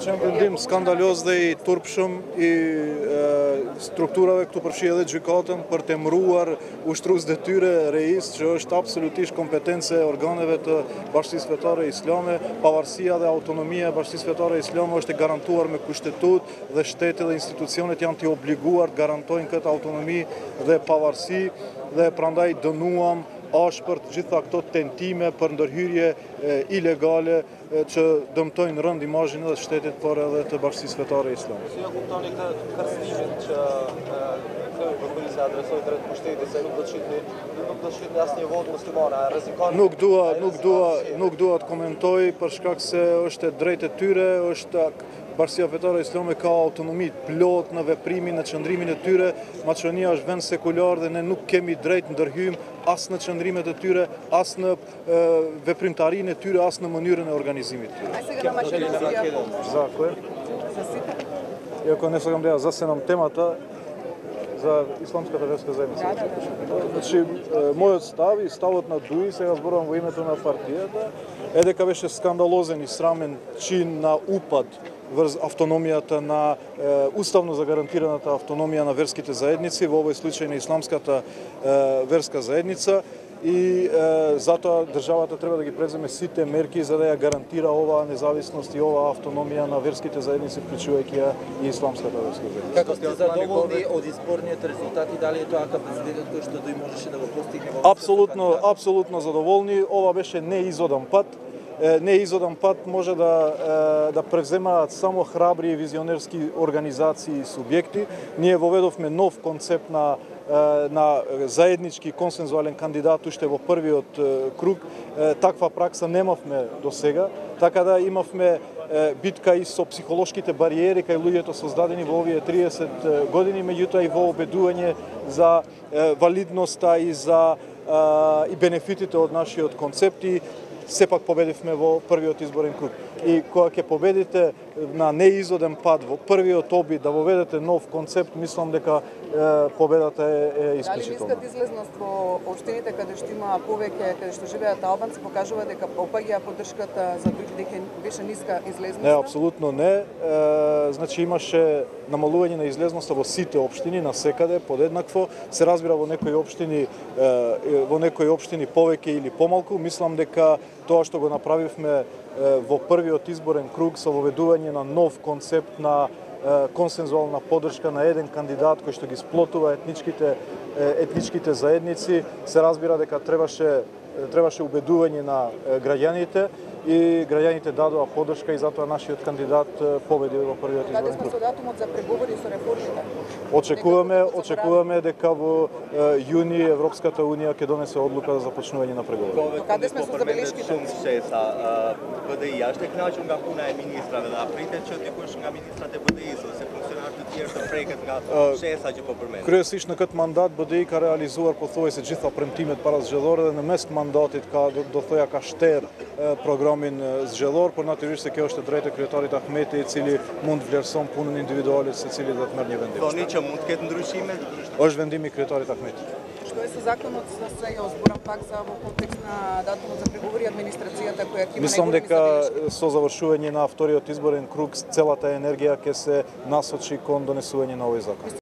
начин видим скандалозда и турпшум и структураве këtu përfshihet edhe gjykatën për të emëruar ushtrues detyre reis, që është absolutisht kompetence e organeve të Bashkisë Fetare Islame. Pavarësia dhe autonomia e Bashkisë Fetare Islame është e garantuar me kushtetutë dhe shteti dhe institucionet janë të obliguar të garantojnë këtë autonomi dhe pavarësi dhe prandaj dënuam ashpërt gjitha këto tentime për ndërhyrje ilegale që dëmtojnë rënd imazhin edhe të shtetit, por edhe të Bashkisë Fetare Islame. Si e kuptoni këtë kërcënimin që vëkullisi adresoi drejt pushtetit se nuk do të shitni asnjë votë muslimane, rrezikon? Nuk dua të komentoj për shkak se është e drejtë e tyre, është Bashkia Fetare Islame ka autonomi plot në veprimin, në qëndrimin e tyre. Maqedonia është vend sekular dhe ne nuk kemi drejt ndërhyjm as në qëndrimet e tyre, as në veprimtarinë e tyre, as në mënyrën e organizimit të tyre. A сега на Македонија Закон. засипа? Иако не сакам да ја засенам темата за исламската верска заедница. Значи, мојот став и ставот на ДУИ, сега зборувам во името на партијата, е дека беше скандалозен и срамен чин на упад врз автономијата на уставно загарантираната автономија на верските заедници, во овој случај на исламската верска заедница, и затоа државата треба да ги преземе сите мерки за да ја гарантира оваа независност и оваа автономија на верските заедници, вклучувајќи ја и исламската верска заедница. Како сте задоволни од изборниот резултат и дали е тоа капацитетот кој што ДУИ можеше да го постигне? Апсолутно задоволни. Ова беше неизодан пат. Неизодан пат може да превземаат само храбри и визионерски организации и субјекти. Ние воведовме нов концепт на заеднички консензуален кандидат уште во првиот круг. Таква пракса немавме до сега, така да имавме битка и со психолошките бариери кај луѓето создадени во овие 30 години, меѓутоа и во обедување за валидноста и за и бенефитите од нашиот концепт, и сепак победивме во првиот изборен круг. И кога ќе победите на неизоден пат во првиот обид да воведете нов концепт, мислам дека победата е исклучителна. Дали ниската излезност во општините каде што има повеќе, каде што живеат албанци, покажува дека опаѓа поддршката за ДУИ, дека беше ниска излезност? Не, апсолутно не. Значи имаше намалување на излезноста во сите општини, насекаде подеднакво. Се разбира во некои општини повеќе или помалку. Мислам дека тоа што го направивме во првиот изборен круг со воведување на нов концепт на консензуална поддршка на еден кандидат кој што ги сплотува етничките заедници, се разбира дека требаше убедување на граѓаните, и граѓаните дадоа поддршка и затоа нашиот кандидат победи во првиот изборен круг. Каде сме со датумот за преговори со реформите? Очекуваме дека во јуни Европската унија ќе донесе одлука за започнување на преговори. Каде сме со забелешките? БДИ, a është e kënaqur nga puna e ministrave dhe a pritet që dikush nga ministrat e BDI-s ose funksionarët të tjerë të preket nga shesa që po përmend? Kryesisht në këtë mandat BDI ka realizuar pothuajse gjitha premtimet parazgjedhore dhe në mes të mandatit ka shter programin zgjedhor, por natyrisht se kjo është e drejtë e kryetarit Ahmeti, i cili mund vlerëson punën individuale secili dhe të merr një vendim. Thoni që mund të ketë ndryshime? Është vendimi i kryetarit Ahmeti. Што е со законот за сега, зборам пак за во контекст на датумот за преговори, администрацијата која ќе има Мислам дека со завршување на вториот изборен круг целата енергија ќе се насочи кон донесување на овој закон.